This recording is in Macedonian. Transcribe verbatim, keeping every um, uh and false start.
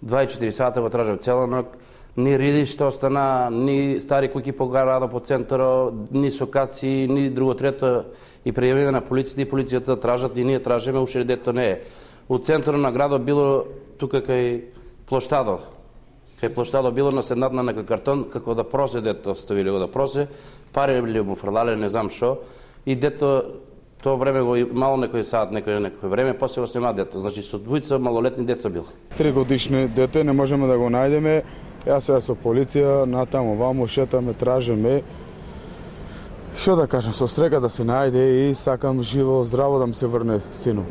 дваесет и четири сата го тражав цела ног, ни риди што остана, ни стари куќи по града, по центарот, ни сокаци, ни друго трето, и пријавиме на полицијата и полицијата тражат и ние тражиме, уште дето не е. У центарот на градот било тука кај плоштадот. Кај плоштадот било наседнат на некој картон како да просе, дето ставиле го да просе, пари ли му фрлале, не знам шо, и дето тоа време го имало некој саат, некој некој време, после го снема дето. Значи со двојца малолетни деца бил. Три годишни дете не можеме да го најдеме. Јас сега со полиција натаму ваму шетаме, тражиме. Што да кажам, со среќа да се најде и сакам живо, здраво да ми се врне сину.